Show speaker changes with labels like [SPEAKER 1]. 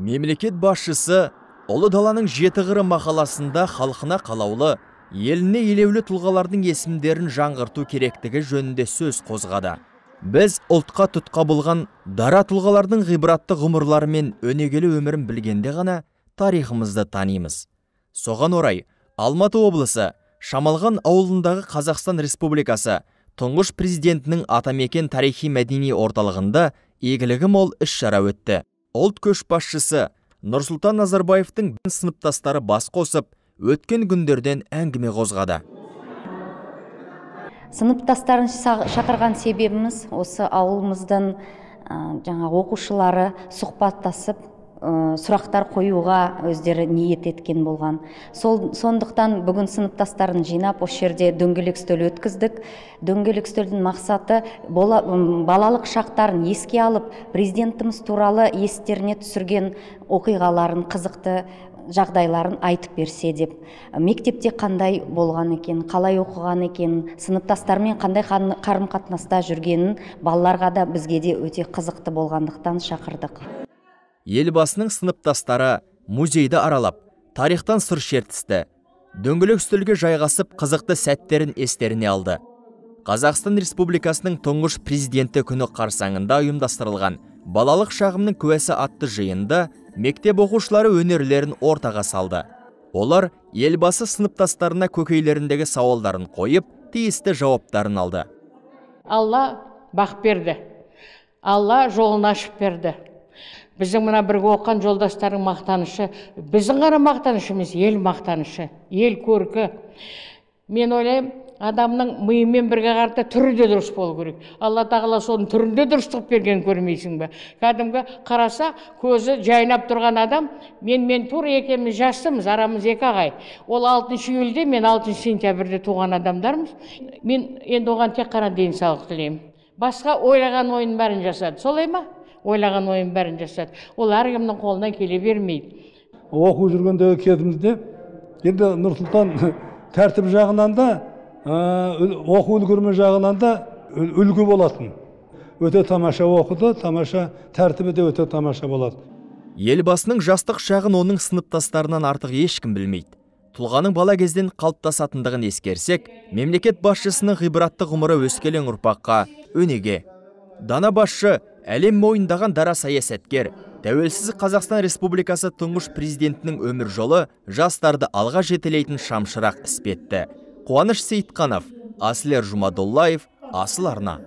[SPEAKER 1] Мемлекет басшысы Ұлы даланың жеті қыры мақаласында халқына қалаулы, еліне елеулі тұлғалардың есімдерін жаңғырту керектігі жөнінде сөз қозғады. Біз ұлтқа тұтқа болған дара тұлғалардың ғибратты ғұмырлары мен өнегелі өмірін білгенде ғана тарихымызды танимыз. Соған орай, Алматы облысы Шамалған ауылындағы Қазақстан Республикасы тұңғыш президентінің атамекен тарихи-мәдени орталығында игілігі мол іс-шара өтті. Ұлт көшбасшысы Нұрсұлтан Назарбаевтың сыныптастары бас қосып, өткен күндерден әңгіме қозғады.
[SPEAKER 2] Сыныптастарын шақырған себебіміз осы ауылымыздан жаңа оқушылары сұхбаттасып, сұрақтар қоюға өздері ниет еткен болған. Сондықтан бүгін сыныптастарын жинап, осы жерде дөңгелек үстел өткіздік. Дөңгелек үстелдің мақсаты балалық шақтарын еске алып, президентіміз туралы естеріне түсірген оқиғаларын, қызықты жағдайларын айтып берсе деп. Мектепте қандай болған екен, қалай оқыған екен, сыныптастармен қандай қарым-қатынаста жүргенін балаларға да бізге де өте қызықты болғандықтан шақырдық.
[SPEAKER 1] Елбасының сыныптастары музейді аралап, тарихтан сыр шертісті. Дөңгелек үстелге жайғасып, қызықты сәттерін естеріне алды. Қазақстан Республикасының тұңғыш президенті күні қарсаңында ұйымдастырылған балалық шағымның куәсі атты жиында мектеп оқушылары өнерлерін ортаға салды. Олар елбасы сыныптастарына көкейлеріндегі сауалдарын қойып, тиісті жауаптарын алды.
[SPEAKER 3] Алла бақ берді. Алла жолын ашып берді. Біздің мына бірге оққан жолдастардың мақтанышы, біздің ғана мақтанышымыз, ел мақтанышы, ел көркі. Мен ойлаймын, адамның миымен бірге қарта түрі де дұрыс болу керек. Алла тағала соның түрінде дұрыстық берген көрмейсің бе? Кәдімгі қараса, көзі жайнап тұрған адам, мен тура екеуміз жастымыз, арамыз 2 ағай. Ол 6 июльде, мен 6 сентябрьде туған адамдармыз. Мен енді оған тек қана денсаулық тілеймін. Басқа ойлаған ойын бәрін жасады. Солай ма? Ойлаған ойын бәрін жасады. Ол әркімнің қолынан келе бермейді.
[SPEAKER 4] Оқу жүргендегі кезімізде, енді Нұрсұлтан тәртіп жағынан да, оқу үлгерме жағынан да үлгі болатын. Өте тамаша оқыды, тамаша тәртібі де өте тамаша болады.
[SPEAKER 1] Елбасының жастық шағын оның сыныптастарынан артық ешкім білмейді. Тұлғаның бала кезден қалыптасатындығын ескерсек, мемлекет басшысының ғибратты ғұмыры өскелең ұрпаққа өнеге. Дана басшы әлем мойындаған дара саясаткер, тәуелсіз Қазақстан Республикасы тұңғыш президентінің өмір жолы жастарды алға жетелейтін шамшырақ іспетті. Қуаныш Сейітқанов, Аслер Жұмадоллаев, Асыл арна.